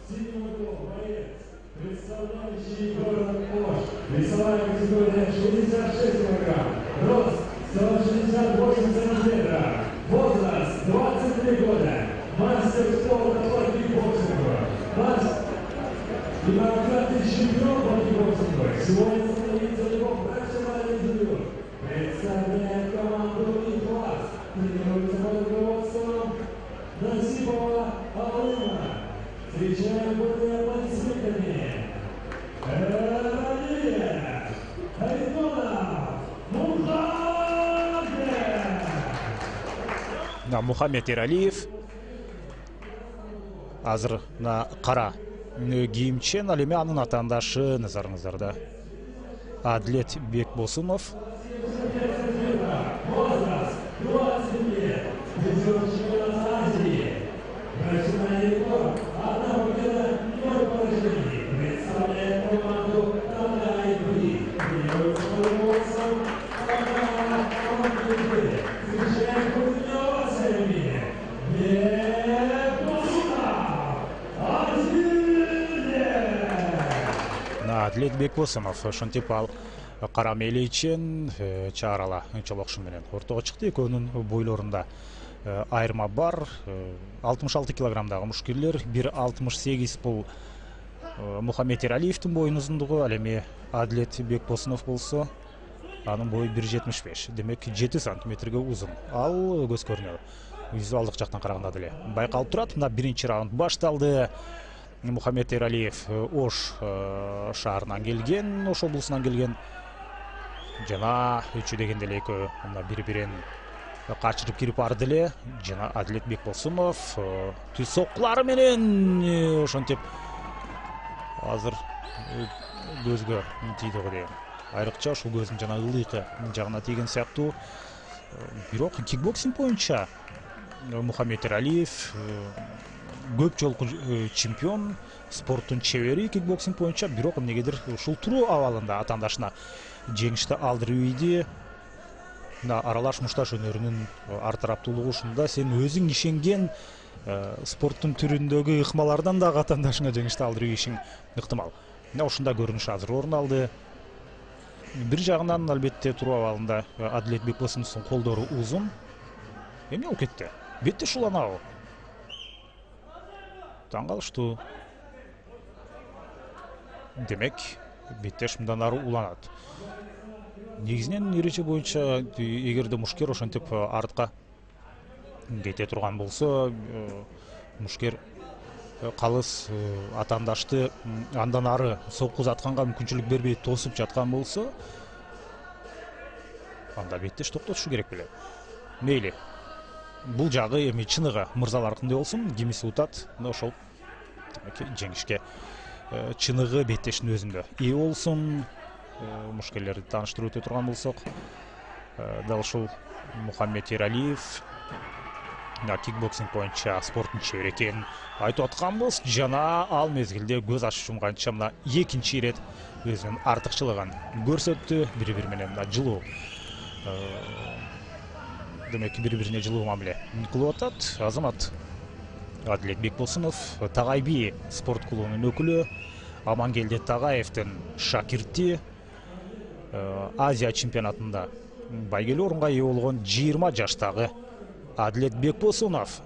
Представляющий город Ош, весовая категория 66 килограмм, рост 168 сантиметров, возраст 23 года, мастер спорта по кикбоксингу, демократный чемпион по кикбоксингу. Сегодня состоится его профессиональный дебют. Представляет команду «Инкласс», тренируется под руководством Насипова Алыма. Встречаем бурными аплодисментами Рамиль Хайдонов Мухаммед. Мухаммед Эралиев азыр кара кийимчен, ал эми анын атаандашы назарыңыздарда Адлет Бекбосунов. Возраст 20 лет, призер чемпионата Азии, профессиональный рекорд, одна победа, 0 поражений, представляет команду Тадай-Бри, тренируется под руководством Тадай-Бри. Встречаем крупными овациями Бекбосунов Адлет Бекбосунов ошентип ал кара мейличен чаарала чолокшу менен ортого чыкты. Экөөнүн бойлорунда айырма бар. 66 килограммдагы мушкерлер, 1.68 бул Мухаммед Эралиевдин боюнун узундугу, ал эми Адлет Бекбосунов болсо анын бою 1.75, демек 7 сантиметрге узун. Ал көз көрүнөт. Визуалдык жактан караганда деле байкалып турат. Мына биринчи раунд башталды. Мухаммед Эралиев Ош шаарынан келген, Ош облусунан келген. Жана үчү дегенде эле экөө мына бири-бирин качырып кирип барды эле. Жана Адлет Бекбосунов түз соккулары менен ошентип азыр көзгө тийди го дейм. Айрыкча ушул көздүн жана ылдыйкы жагына тийген сыяктуу. Бирок кикбоксинг боюнча Мухаммед Эралиев көп жолку чемпион, спорттун чебери кикбоксинг боюнча, бирок эмнегедир ушул туруу абалында атаандашына жеңишти алдырып ийди. Аралаш мушташ өнөрүнүн ар тараптуулугу ушунда, сен өзүң ишенген спорттун түрүндөгү ыкмалардан дагы атаандашыңа жеңишти алдырып ийишиң ыктымал. Ушундай көрүнүш азыр орун алды. Бир жагынан албетте туруу абалында Адлет Бекбосуновдун колдору узун. Эмне болуп кетти? Бетте шуланабы? Таң калыштуу. Демек, беттеш мындан ары уланат. Негизинен эреже боюнча эгерде мушкер ошентип артка кете турган болсо, мушкер калыс атаандашты андан ары соккузатканга мүмкүнчүлүк бербей тосуп жаткан болсо, анда беттеш токтотушу керек беле. Мейли. Бул жагы эми чыныгы мырзаларкындай болсун, кимиси утат, ошол жеңишке чыныгы беттештин өзүндө ээ болсун. Мушкерлерди тааныштырып өтө турган болсок, дал ушул Мухаммед Эралиев кикбоксинг боюнча спорттун чебери экенин айтып атканбыз. Жана ал мезгилде көз ачып жумганча мына экинчи ирет өзүнүн артыкчылыгын көрсөттү. Бири-бири менен мына жылуу, демек бири-бирине жылуу мамиле кылып атат. Азамат Адлет Бекбосунов Тагайби спорт клубунун өкүлү, Амангелди Тагаевдин шакирти, Азия чемпионатында байгелүү орунга ээ болгон 20 жаштагы Адлет Бекбосунов.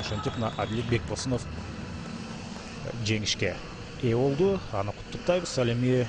Ошентип Адлет Бекбосунов жеңишке ээ болду. Аны куттуктайбыз. Ал эми